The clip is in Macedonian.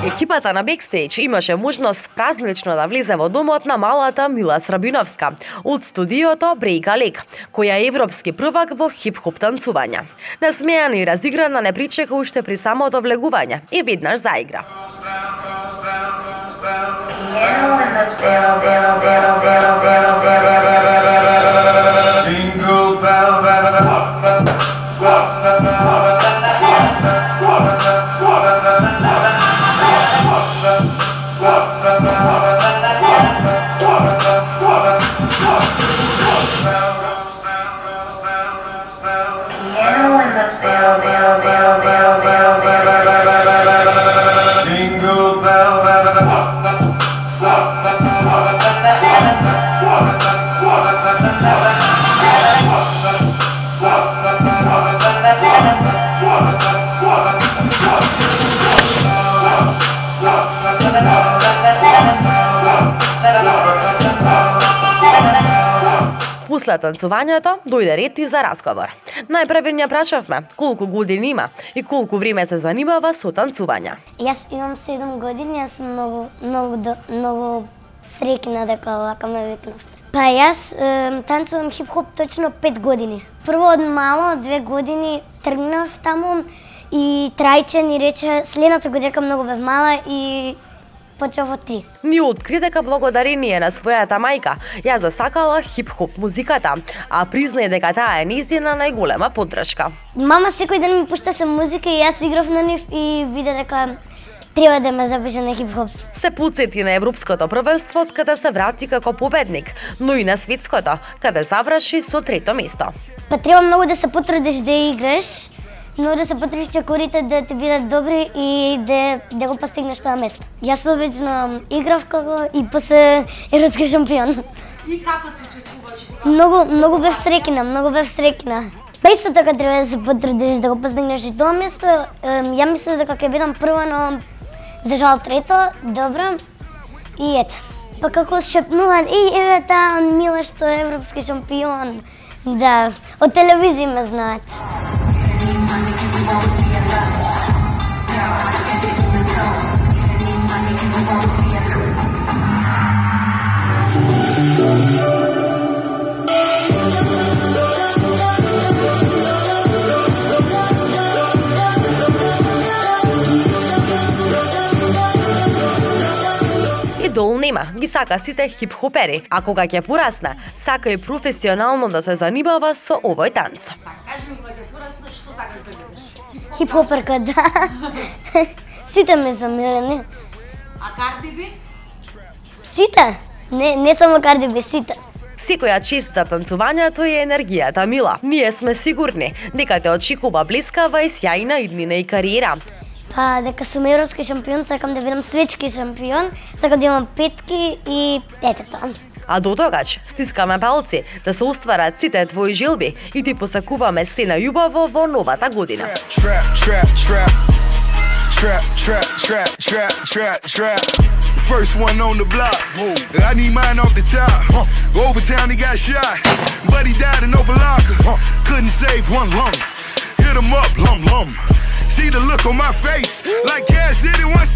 Екипата на Бекстејдж имаше можност празнично да влезе во домот на малата Мила Срабиновска од студиото Брейка Лек, која е европски првак во хип-хоп танцување. Насмејана и разиграна не причека уште при самото влегување и веднаш заигра. После танцувањето дојде ред и за разговор. Најпрв ја прашавме колку години има и колку време се занимава со танцување. Јас имам 7 години, јас сум многу среќна дека вака ме викнавте. Па јас танцувам хип-хоп точно 5 години. Прво од мало, 2 години тргнав таму и Трајче ни рече следната година многу бев мала и почнав од 3. Ни откри дека благодарение на својата мајка ја засакала хип-хоп музиката, а призна дека таа е нејзина најголема поддршка. Мама секој ден ми пушта се музика и јас играв на нив и виде дека треба да ме запише на хип-хоп. Се потсети на европското првенство од каде се врати како победник, но и на светското, каде заврши со 3-то место. Па треба многу да се потрудиш да играш, но да се потрудиш чекорите да ти бидат добри и да го постигнеш тоа место. Јас обично играв како и после европски шампион. И како се чувствуваш? Многу бев среќна. Па исто така треба да се потрудиш да го постигнеш и тоа место. Ја мислев дека ќе бидам прва, но за жал 3-то, добро. И ето. Па како шепнуваат, еве таа Мила што е европски шампион. Да, од телевизија ме знаат. Идол нема, ги сака сите хип-хопери, а кога ќе порасне, сака и професионално да се занимава со овој танц. Кажи ми, кога ќе порасне, што сакаш да бидеш? Хип-хоперка, да. Сите ме замирани. А Карди Би? Сите. Не само Карди Би, сите. Секоја чест за танцувањето и енергијата Мила. Ние сме сигурни дека те очекува блескава и сјајна иднина и кариера. Па дека сум европски шампион, сакам да бидам светски шампион, сакам да имам петки и ете тоа. А до тогаш стискаме палци да се остварат сите твои желби и ти посакуваме се најубаво во новата година. First one on the block. I need mine off the top. Over town he got shot, but he died in Opa-locka. Couldn't save one lung. Hit him up, lum. See the look on my face, like Cass did it once.